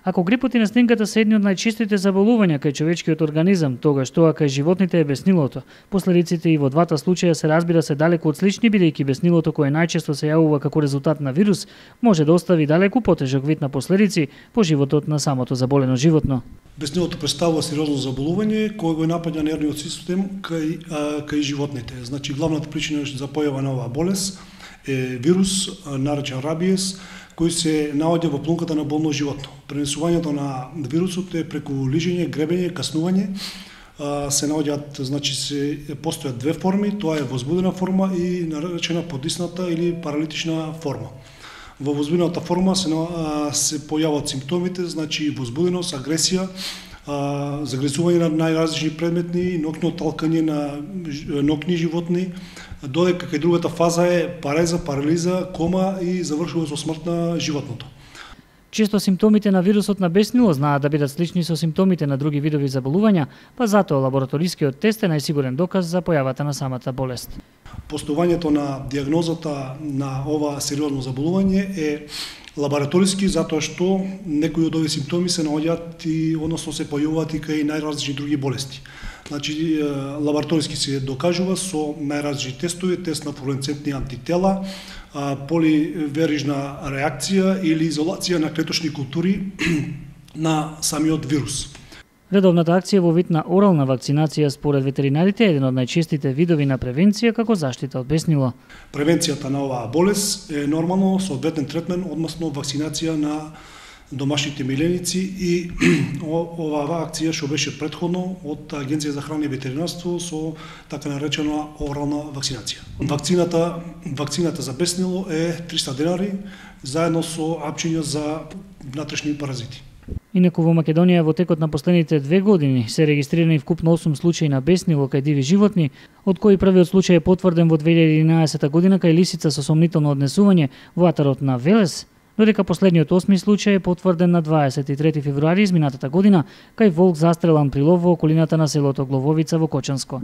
Ако грипот и настинката се едни од најчестите заболувања кај човечкиот организам, тогаш тоа кај животните е беснилото. Последиците и во двата случаја се разбира се далеку од слични, бидејќи беснилото кое најчесто се јавува како резултат на вирус, може да остави далеку потежок вид на последици по животот на самото заболено животно. Беснилото представува сериозно заболување кој го напаѓа нервниот систем кај животните. Значи главната причина за појава на оваа болест е вирус наречен рабиес, кој се наоѓа во плунката на болно животно. Пренесувањето на вирусот е преку лижење, гребење, каснување. Се наоѓаат, значи постојат две форми, тоа е возбудена форма и наречена подисната или паралитична форма. Во возбудената форма се појавуваат симптомите, значи возбуденост, агресија, загресување на најразлични предметни, ноќно талкање на ноќни животни, додека кај другата фаза е пареза, парализа, кома и завршува со смрт на животното. Често симптомите на вирусот на беснило знаат да бидат слични со симптомите на други видови заболувања, па затоа лабораторискиот тест е најсигурен доказ за појавата на самата болест. Постојањето на дијагнозата на ова сериозно заболување е лабораториски затоа што некои од овие симптоми се наоѓаат и односно се појавуваат и кај најразлични други болести. Значи лабораториски се докажува со најразлични тестови, тест на флуоресцентни антитела, поливерижна реакција или изолација на клеточни култури на самиот вирус. Редовната акција во вид на орална вакцинација според ветеринарите е еден од најчестите видови на превенција како заштита од беснило. Превенцијата на оваа болест е нормално соодветен третмент, односно вакцинација на домашните миленици и оваа акција што беше претходно од Агенција за храна и ветеринарство со така наречена орална вакцинација. Вакцината за беснило е 300 денари заедно со апчиња за внатрешни паразити. Инаку во Македонија во текот на последните 2 години се регистрирани вкупно 8 случаи на беснило кај диви животни, од кои првиот случај е потврден во 2011 година кај лисица со сомнително однесување во атарот на Велес, додека последниот 8 случај е потврден на 23 февруари изминатата година кај волк застрелан при лов во околината на селото Глововица во Кочанско.